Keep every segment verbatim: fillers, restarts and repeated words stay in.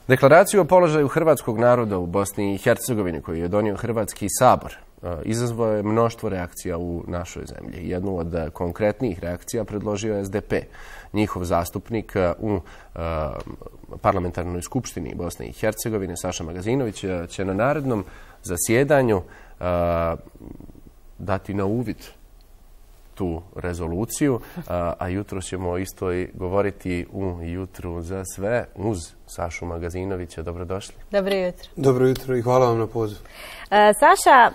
Deklaraciju o položaju hrvatskog naroda u Bosni i Hercegovini koju je donio Hrvatski sabor izazvao je mnoštvo reakcija u našoj zemlji. Jednu od konkretnijih reakcija predložio je S D P. Njihov zastupnik u parlamentarnoj skupštini Bosne i Hercegovine, Saša Magazinović, će na narednom zasjedanju dati na uvid tu rezoluciju, a jutro ćemo isto i govoriti u Jutru za sve uz Sašu Magazinovića. Dobrodošli. Dobro jutro. Dobro jutro i hvala vam na pozivu. Saša,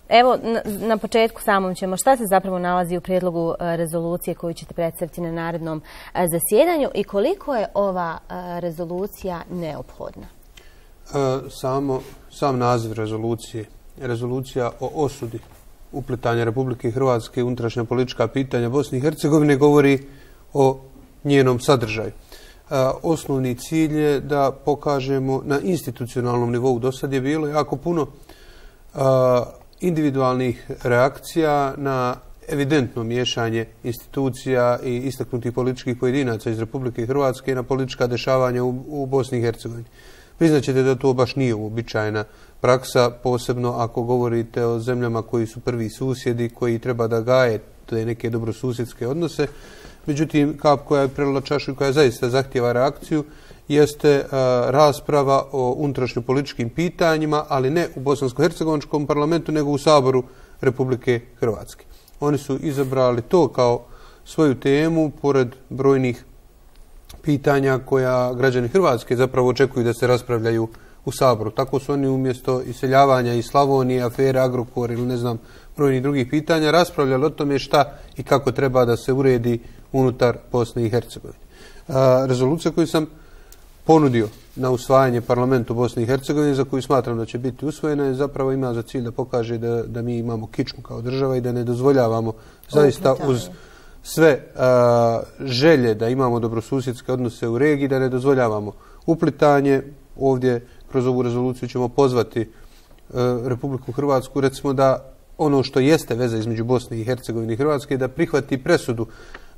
evo na početku samom ćemo. Šta se zapravo nalazi u prijedlogu rezolucije koju ćete predstaviti na narednom zasjedanju i koliko je ova rezolucija neophodna? Samo, sam naziv rezolucije, rezolucija o osudi uplitanja Republike Hrvatske u unutrašnja politička pitanja Bosne i Hercegovine govori o njenom sadržaju. Osnovni cilj je da pokažemo na institucionalnom nivou. Do sad je bilo jako puno individualnih reakcija na evidentno miješanje institucija i istaknutih političkih pojedinaca iz Republike Hrvatske na politička dešavanja u, u Bosni i Hercegovini. Priznaćete da to baš nije uobičajena praksa, posebno ako govorite o zemljama koji su prvi susjedi, koji treba da gaje te neke dobrosusjedske odnose. Međutim, kap koja je prelila čašu i koja zaista zahtijeva reakciju jeste a, rasprava o unutrašnjopolitičkim pitanjima, ali ne u bosansko-hercegovačkom parlamentu, nego u Saboru Republike Hrvatske. Oni su izabrali to kao svoju temu, pored brojnih pitanja koja građani Hrvatske zapravo očekuju da se raspravljaju u Saboru. Tako su oni umjesto iseljavanja iz Slavonije, afere Agrokor ili ne znam brojnih drugih pitanja raspravljali o tome šta i kako treba da se uredi unutar Bosne i Hercegovine. Rezolucija koju sam ponudio na usvajanje parlamentu Bosne i Hercegovine, za koju smatram da će biti usvojena, je zapravo ima za cilj da pokaže da, da mi imamo kičmu kao država i da ne dozvoljavamo zaista uz sve a, želje da imamo dobrosusjedske odnose u regiji, da ne dozvoljavamo uplitanje. Ovdje kroz ovu rezoluciju ćemo pozvati a, Republiku Hrvatsku, recimo da ono što jeste veza između Bosne i Hercegovine i Hrvatske, da prihvati presudu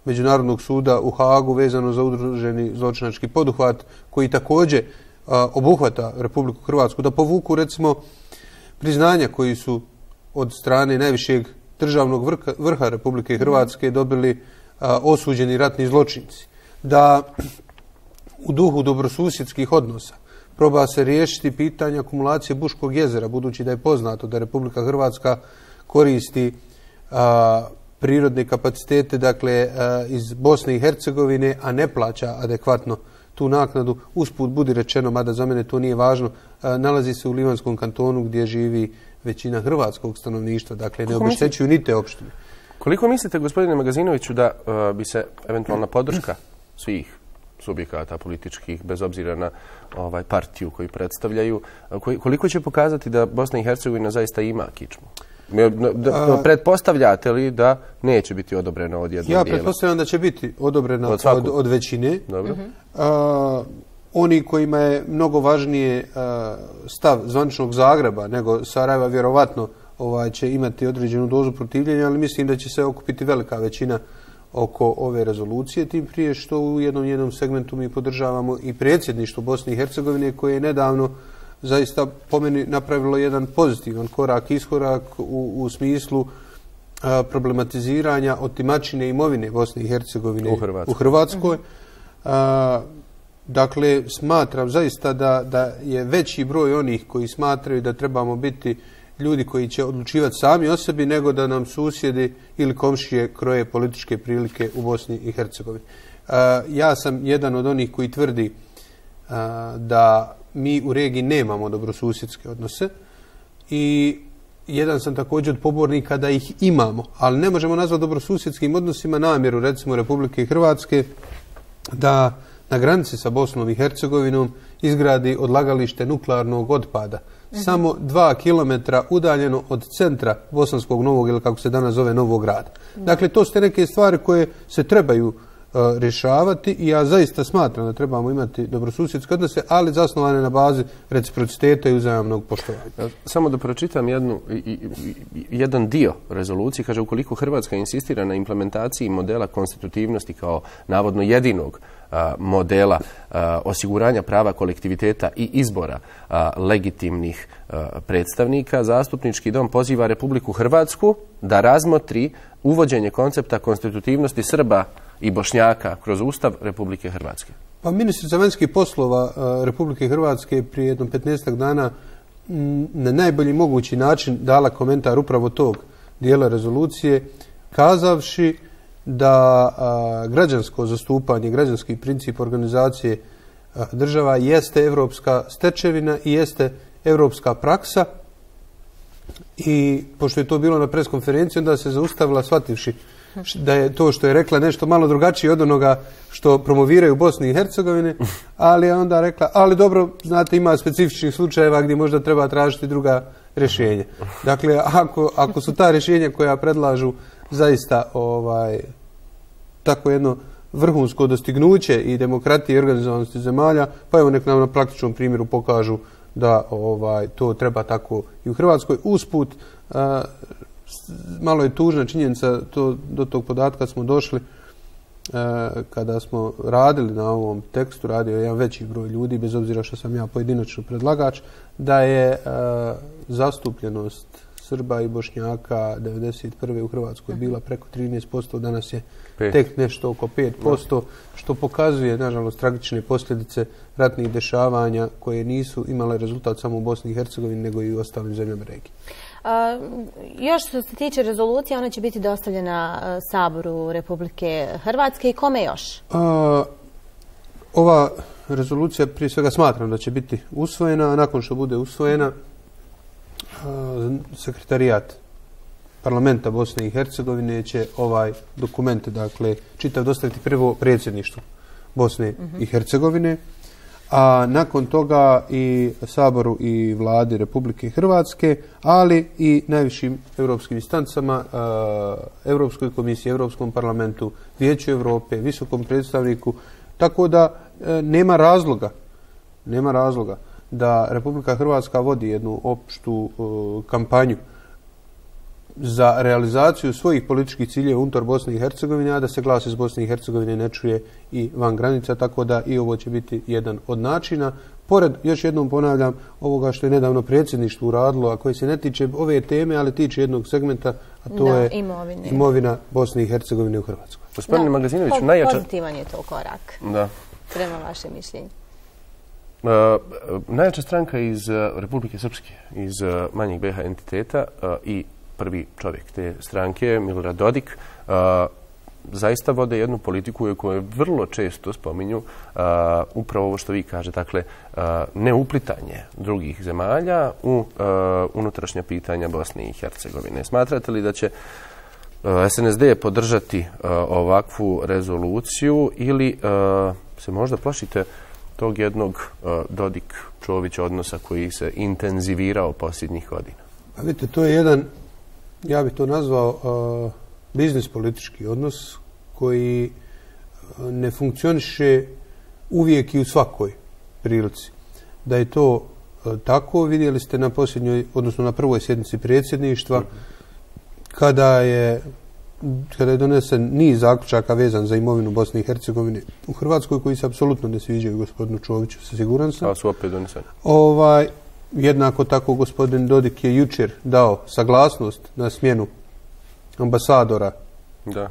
Međunarodnog suda u Hagu vezano za udruženi zločinački poduhvat koji također a, obuhvata Republiku Hrvatsku, da povuku recimo priznanja koji su od strane najvišeg državnog vrha, vrha Republike Hrvatske dobili a, osuđeni ratni zločinci. Da u duhu dobrosusjedskih odnosa proba se riješiti pitanje akumulacije Buškog jezera, budući da je poznato da Republika Hrvatska koristi a, prirodne kapacitete, dakle a, iz Bosne i Hercegovine, a ne plaća adekvatno tu naknadu. Usput budi rečeno, mada za mene to nije važno, a, nalazi se u Livanskom kantonu gdje živi većina hrvatskog stanovništva, dakle ne obeštećuju ni te opštine. Koliko mislite, gospodine Magazinoviću, da uh, bi se eventualna podrška svih subjekata političkih, bez obzira na ovaj partiju koju predstavljaju, koji, koliko će pokazati da Bosna i Hercegovina zaista ima kičmu? Da, pretpostavljate li da neće biti odobrena od jednog dijela? Ja pretpostavljam da će biti odobrena od, od, od većine. Dobro. Uh, oni kojima je mnogo važnije uh, stav zvaničnog Zagreba nego Sarajeva, vjerovatno ovaj, će imati određenu dozu protivljenja, ali mislim da će se okupiti velika većina oko ove rezolucije, tim prije što u jednom jednom segmentu mi podržavamo i predsjedništvo Bosne i Hercegovine koje je nedavno zaista po meni napravilo jedan pozitivan korak, iskorak u, u smislu a, problematiziranja otimačine imovine Bosne i Hercegovine u Hrvatskoj. U Hrvatskoj. A, dakle, smatram zaista da, da je veći broj onih koji smatraju da trebamo biti ljudi koji će odlučivati sami o sebi, nego da nam susjedi ili komšije kroje političke prilike u Bosni i Hercegovini. A, ja sam jedan od onih koji tvrdi a, da mi u regiji nemamo dobrosusjedske odnose i jedan sam također od pobornika da ih imamo, ali ne možemo nazvati dobrosusjedskim odnosima namjeru, recimo Republike Hrvatske, da na granici sa Bosnom i Hercegovinom izgradi odlagalište nuklearnog otpada. Uh-huh. Samo dva kilometra udaljeno od centra Bosanskog Novog, ili kako se danas zove, Novog Grada. Uh-huh. Dakle, to su te neke stvari koje se trebaju rješavati i ja zaista smatram da trebamo imati dobrosusjedske odnose, ali zasnovane na bazi reciprociteta i uzajamnog poštovanja. Samo da pročitam jednu, jedan dio rezolucije. Kaže, ukoliko Hrvatska insistira na implementaciji modela konstitutivnosti kao navodno jedinog modela osiguranja prava kolektiviteta i izbora legitimnih predstavnika, Zastupnički dom poziva Republiku Hrvatsku da razmotri uvođenje koncepta konstitutivnosti Srba i Bošnjaka kroz Ustav Republike Hrvatske. Pa ministrica vanjskih poslova Republike Hrvatske prije jednom petnaestak dana na najbolji mogući način dala komentar upravo tog dijela rezolucije, kazavši da a, građansko zastupanje, građanski princip organizacije a, država jeste evropska stečevina i jeste evropska praksa. I pošto je to bilo na preskonferenciji, onda se zaustavila shvativši da je to što je rekla nešto malo drugačije od onoga što promoviraju u Bosni i Hercegovini, ali je onda rekla, ali dobro, znate, ima specifičnih slučajeva gdje možda treba tražiti druga rješenja. Dakle, ako, ako su ta rješenja koja predlažu zaista ovaj, tako jedno vrhunsko dostignuće i demokratije i organizovanosti zemalja, pa evo nek nam na praktičnom primjeru pokažu da ovaj, to treba tako i u Hrvatskoj. Usput, a, malo je tužna činjenica, to, do tog podatka smo došli a, kada smo radili na ovom tekstu, radio je jedan veći broj ljudi, bez obzira što sam ja pojedinačno predlagač, da je a, zastupljenost Srba i Bošnjaka devedeset prve u Hrvatskoj bila preko trinaest posto, danas je pet. Tek nešto oko pet posto, što pokazuje, nažalost, tragične posljedice ratnih dešavanja koje nisu imale rezultat samo u Bosni i Hercegovini, nego i u ostalim zemljama regije. A, još što se tiče rezolucije, ona će biti dostavljena a, Saboru Republike Hrvatske i kome još? A, ova rezolucija prije svega smatram da će biti usvojena, a nakon što bude usvojena, sekretarijat parlamenta Bosne i Hercegovine će ovaj dokument, dakle, čitav dostaviti prvo predsjedništvu Bosne i Hercegovine, a nakon toga i Saboru i vladi Republike Hrvatske, ali i najvišim europskim instancama, Europskoj komisiji, Europskom parlamentu, Vijeću Europe, visokom predstavniku, tako da nema razloga, nema razloga da Republika Hrvatska vodi jednu opštu uh, kampanju za realizaciju svojih političkih ciljeva unutar Bosne i Hercegovine, a da se glas iz Bosne i Hercegovine ne čuje i van granica, tako da i ovo će biti jedan od načina. Pored, još jednom ponavljam, ovoga što je nedavno predsjedništvo uradilo, a koje se ne tiče ove teme, ali tiče jednog segmenta, a to da, je imovine. imovina Bosne i Hercegovine u Hrvatskoj. Gospodine Magazinoviću, po, najjača... pozitivan je to korak. Da. Prema vašem mišljenju. Uh, najjača stranka iz uh, Republike Srpske, iz uh, manjeg be ha entiteta uh, i prvi čovjek te stranke, Milorad Dodik, uh, zaista vode jednu politiku koju vrlo često spominju uh, upravo ovo što vi kaže, dakle, uh, neuplitanje drugih zemalja u uh, unutrašnja pitanja Bosne i Hercegovine. Smatrate li da će uh, es en es de podržati uh, ovakvu rezoluciju ili uh, se možda plašite tog jednog uh, Dodik-Čović odnosa koji se intenzivirao posljednjih godina? Pa vidite, to je jedan, ja bih to nazvao uh, biznis politički odnos koji uh, ne funkcioniše uvijek i u svakoj prilici. Da je to uh, tako, vidjeli ste na posljednjoj, odnosno na prvoj sjednici predsjedništva, kada je kada je donesen niz zaključaka vezan za imovinu Bosne i Hercegovine u Hrvatskoj, koji se apsolutno ne sviđaju gospodinu Čoviću, sa siguran sam. A su opet doneseni. Ovaj, jednako tako gospodin Dodik je jučer dao saglasnost na smjenu ambasadora. Da.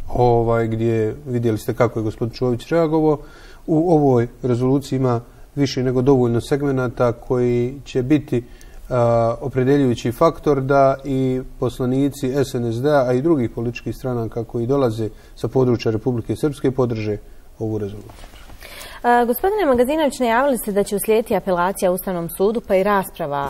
Ovaj, gdje vidjeli ste kako je gospodin Čović reagovao. U ovoj rezoluciji ima više nego dovoljno segmenata koji će biti Uh, opredeljujući faktor da i poslanici es en es de-a, a i drugih političkih stranaka koji dolaze sa područja Republike Srpske podrže ovu rezoluciju. Uh, gospodine Magazinović, najavili ste da će uslijediti apelacija Ustavnom sudu pa i rasprava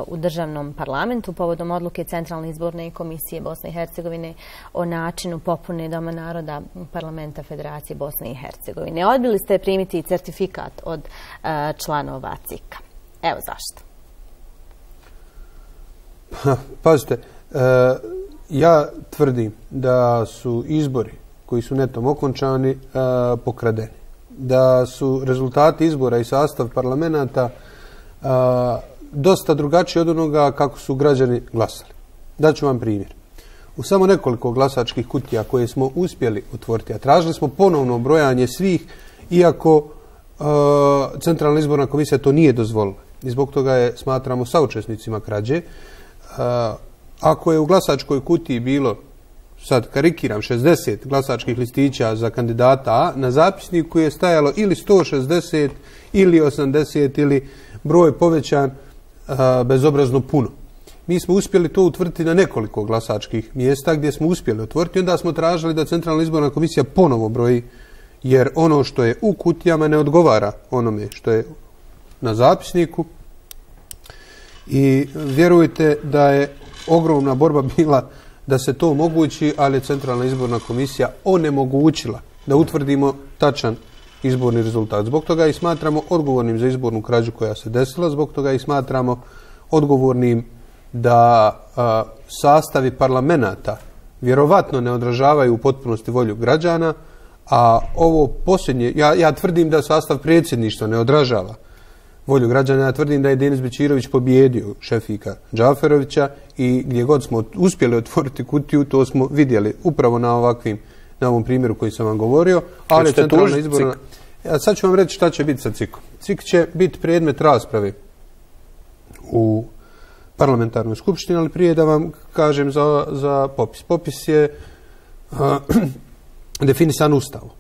uh, u državnom parlamentu povodom odluke Centralne izborne komisije Bosne i Hercegovine o načinu popune Doma naroda parlamenta Federacije Bosne i Hercegovine. Odbili ste primiti certifikat od uh, članova C I K-a. Evo zašto. Pazite, e, ja tvrdim da su izbori koji su netom okončani pokradeni. Da su rezultati izbora i sastav parlamenta dosta drugačiji od onoga kako su građani glasali. Daću vam primjer. U samo nekoliko glasačkih kutija koje smo uspjeli otvoriti, a tražili smo ponovno brojanje svih, iako Centralna izborna komisija to nije dozvolila. I zbog toga je smatramo saučesnicima krađe. Ako je u glasačkoj kutiji bilo, sad karikiram, šezdeset glasačkih listića za kandidata A, na zapisniku je stajalo ili sto šezdeset ili osamdeset ili broj povećan a, bezobrazno puno. Mi smo uspjeli to utvrditi na nekoliko glasačkih mjesta gdje smo uspjeli otvoriti. Onda smo tražili da Centralna izborna komisija ponovo broji, jer ono što je u kutijama ne odgovara onome što je na zapisniku. I vjerujte da je ogromna borba bila da se to omogući, ali je Centralna izborna komisija onemogućila da utvrdimo tačan izborni rezultat. Zbog toga i smatramo odgovornim za izbornu krađu koja se desila, zbog toga i smatramo odgovornim da a, sastavi parlamenta vjerovatno ne odražavaju u potpunosti volju građana, a ovo posljednje, ja, ja tvrdim da sastav predsjedništva ne odražava volju građana. Ja tvrdim da je Denis Bećirović pobjedio Šefika Džaferovića i gdje god smo uspjeli otvoriti kutiju, to smo vidjeli upravo na ovakvim, na ovom primjeru koji sam vam govorio. Ali centralna izborna... Ja, sad ću vam reći šta će biti sa C I K-om. C I K će biti predmet rasprave u parlamentarnoj skupštini, ali prije da vam kažem za, za popis. Popis je a, definisan Ustavom.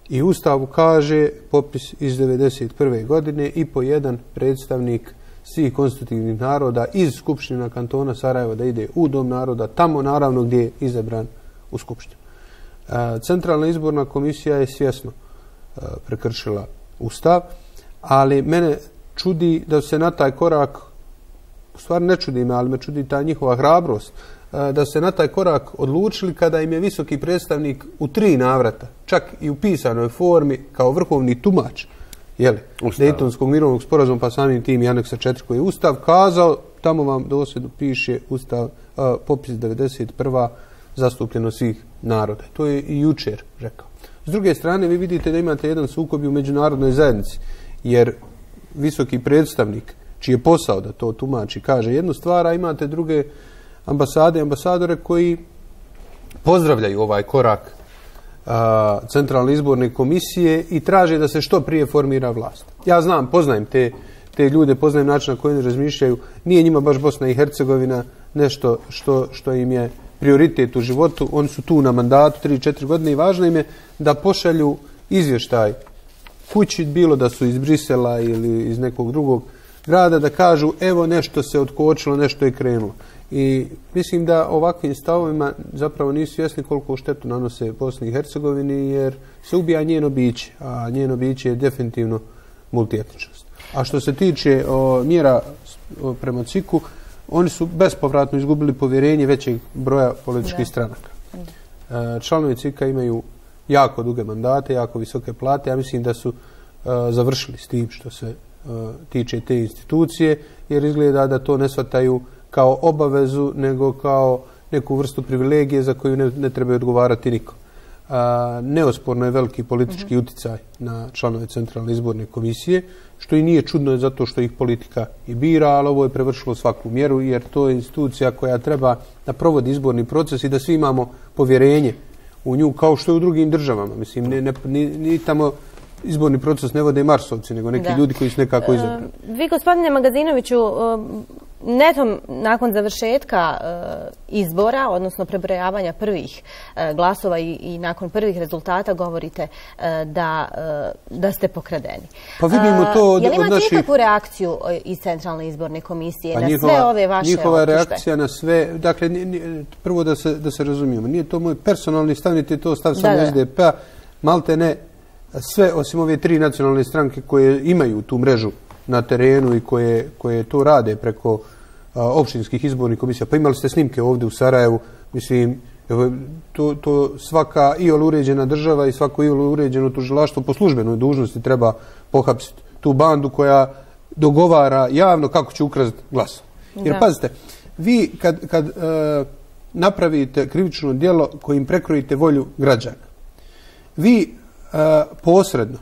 I u Ustavu kaže popis iz devedeset prve godine i po jedan predstavnik svih konstitutivnih naroda iz Skupština kantona Sarajeva da ide u Dom naroda, tamo naravno gdje je izabran u Skupštinu. Centralna izborna komisija je svjesno prekršila Ustav, ali mene čudi da se na taj korak, u stvari ne čudi me, ali me čudi ta njihova hrabrost, da se na taj korak odlučili kada im je visoki predstavnik u tri navrata, čak i u pisanoj formi, kao vrhovni tumač Dejtonskog mirovnog sporazuma, pa samim tim i aneksa četiri koji je Ustav, kazao, tamo vam dosljedno piše Ustav, a, popis devedeset prva zastupljeno svih naroda. To je i jučer rekao. S druge strane, vi vidite da imate jedan sukob u međunarodnoj zajednici, jer visoki predstavnik, čiji je posao da to tumači, kaže jednu stvar, a imate druge ambasade i ambasadore koji pozdravljaju ovaj korak a, Centralne izborne komisije i traže da se što prije formira vlast. Ja znam, poznajem te, te ljude, poznajem način na koji oni razmišljaju. Nije njima baš Bosna i Hercegovina nešto što, što im je prioritet u životu. Oni su tu na mandatu tri četiri godine i važno im je da pošalju izvještaj kući, bilo da su iz Brisela ili iz nekog drugog grada, da kažu evo nešto se otkočilo, nešto je krenulo. I mislim da ovakvim stavovima zapravo nisu svjesni koliko štetu nanose Bosni i Hercegovini, jer se ubija njeno biće, a njeno biće je definitivno multietničnost. A što se tiče o, mjera o, prema C I K-u, oni su bespovratno izgubili povjerenje većeg broja političkih stranaka. E, članovi C I K-a imaju jako duge mandate, jako visoke plate. Ja mislim da su e, završili s tim što se e, tiče te institucije, jer izgleda da to ne shvataju kao obavezu, nego kao neku vrstu privilegije za koju ne, ne treba odgovarati niko. A, neosporno je veliki politički mm-hmm. uticaj na članove Centralne izborne komisije, što i nije čudno zato što ih politika i bira, ali ovo je prevršilo svaku mjeru, jer to je institucija koja treba da provodi izborni proces i da svi imamo povjerenje u nju, kao što je u drugim državama. Mislim, ne, ne, ni, ni tamo izborni proces ne vode Marsovci, nego neki da. ljudi koji su nekako izabrani. Uh, vi, gospodine Magazinoviću, uh, netom nakon završetka uh, izbora, odnosno prebrojavanja prvih uh, glasova i, i nakon prvih rezultata govorite uh, da, uh, da ste pokradeni. Pa vidimo to od, uh, je li imate naših... ikakvu reakciju uh, iz Centralne izborne komisije pa na njihova, sve ove vaše njihova optužbe? reakcija na sve, dakle, prvo da se, da se razumijemo, nije to moj personalni stav, niti to stav samo S D P-a, malte ne, sve osim ove tri nacionalne stranke koje imaju tu mrežu na terenu i koje, koje to rade preko a, opštinskih izbornih komisija. Pa imali ste snimke ovdje u Sarajevu, mislim, to, to svaka iol uređena država i svako iol uređeno tužilaštvo po službenoj dužnosti treba pohapsiti tu bandu koja dogovara javno kako će ukrasti glas. Jer da. Pazite, vi kad, kad uh, napravite krivično djelo kojim prekrojite volju građana, vi uh, posredno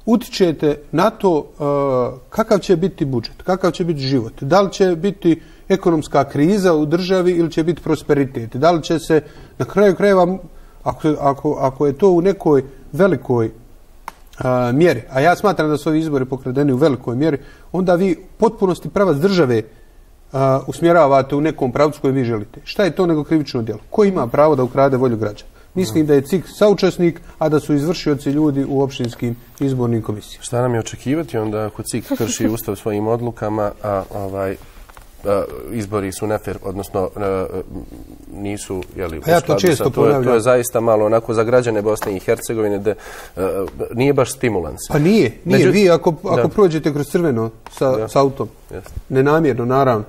utičete na to uh, kakav će biti budžet, kakav će biti život, da li će biti ekonomska kriza u državi ili će biti prosperitet, da li će se na kraju krajeva, ako, ako, ako je to u nekoj velikoj uh, mjeri, a ja smatram da su ovi izbori pokradeni u velikoj mjeri, onda vi potpunosti pravac države uh, usmjeravate u nekom pravcu koji vi želite. Šta je to nego krivično djelo? Ko ima pravo da ukrade volju građana? Mislim da je C I K saučesnik, a da su izvršioci ljudi u opštinskim izbornim komisijama. Šta nam je očekivati onda ako C I K krši ustav svojim odlukama, a ovaj a, izbori su nefer, odnosno a, nisu, jeli, pa ja to često to, je, to je zaista malo onako za građane Bosne i Hercegovine da a, nije baš stimulans. Pa nije, nije. Među... Vi ako, ako prođete kroz crveno sa, sa autom, yes. nenamjerno, naravno,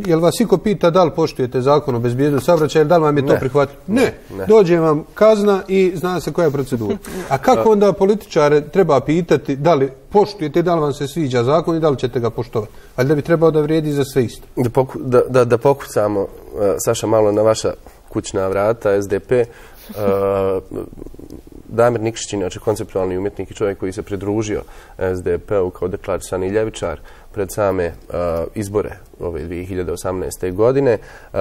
jel vas iko pita da li poštujete zakon o bezbjednosti saobraćaja ili da li vam je to prihvatljivo? Ne. ne. Dođe vam kazna i zna se koja je procedura. A kako onda političare treba pitati da li poštujete, da li vam se sviđa zakon i da li ćete ga poštovati? Ali da bi trebao da vrijedi za sve isto. Da, poku, da, da, da pokucamo, uh, Saša, malo na vaša kućna vrata, S D P. Uh, Damir Nikšić, inače konceptualni umjetnik i čovjek koji se pridružio S D P-u kao deklarisani ljevičar pred same uh, izbore ove dvije hiljade osamnaeste. godine. Uh,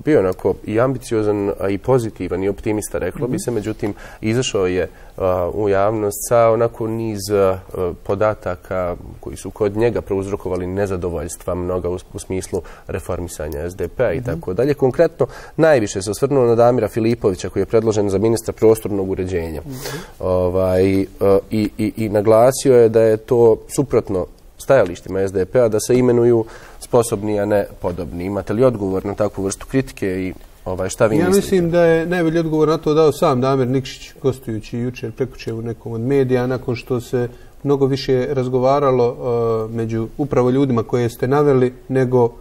bio onako i ambiciozan, a i pozitivan i optimista, reklo bi se. Međutim, izašao je uh, u javnost sa onako niz uh, podataka koji su kod njega prouzrokovali nezadovoljstva mnoga u, u smislu reformisanja S D P-a i mm-hmm. tako dalje. Konkretno, najviše se osvrnuo na Damira Filipovića koji je predložen za ministra prostornog uređenja. Mm-hmm. ovaj, uh, i, i, i naglasio je da je to suprotno stajalištima S D P-a da se imenuju sposobni, a ne podobni. Imate li odgovor na takvu vrstu kritike i ovaj, šta vi ja mislite? Ja mislim da je najbolji odgovor na to dao sam Damir Nikšić, gostujući jučer prekuče u nekom od medija, nakon što se mnogo više razgovaralo uh, među upravo ljudima koje ste naveli, nego uh,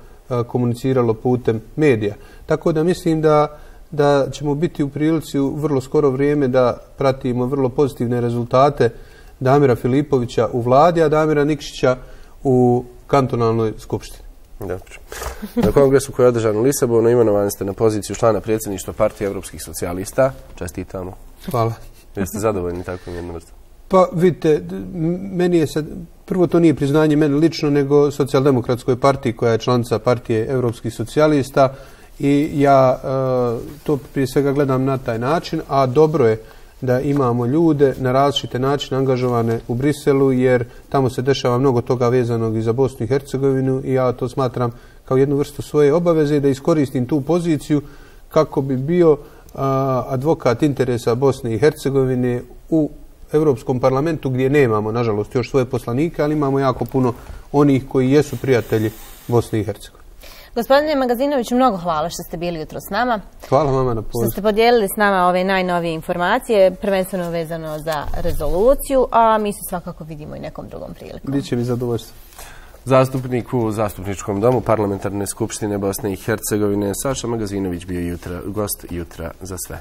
komuniciralo putem medija. Tako da mislim da da ćemo biti u prilici u vrlo skoro vrijeme da pratimo vrlo pozitivne rezultate Damira Filipovića u vladi, a Damira Nikšića u kantonalnoj skupštini. Dobro. Na kongresu koji je održan u Lisabonu imenovani ste na poziciju člana predsjedništva Partije evropskih socijalista. Čestitamo. Hvala. Jeste zadovoljni takvom jednom vrstom? Pa vidite, meni je sad, prvo to nije priznanje meni lično, nego socijaldemokratskoj partiji koja je članica Partije evropskih socijalista i ja uh, to prije svega gledam na taj način, a dobro je da imamo ljude na različite načine angažovane u Briselu, jer tamo se dešava mnogo toga vezanog i za Bosnu i Hercegovinu i ja to smatram kao jednu vrstu svoje obaveze da iskoristim tu poziciju kako bi bio a, advokat interesa Bosne i Hercegovine u Europskom parlamentu gdje nemamo, nažalost, još svoje poslanike, ali imamo jako puno onih koji jesu prijatelji Bosne i Hercegovine. Gospodine Magazinoviću, mnogo hvala što ste bili jutro s nama. Hvala vama na pozivu. Što ste podijelili s nama ove najnovije informacije, prvenstveno vezano za rezoluciju, a mi se svakako vidimo i nekom drugom prilikom. Biće mi zadovoljstvo. Zastupnik u Zastupničkom domu Parlamentarne skupštine Bosne i Hercegovine Saša Magazinović bio jutra, gost jutra za sve.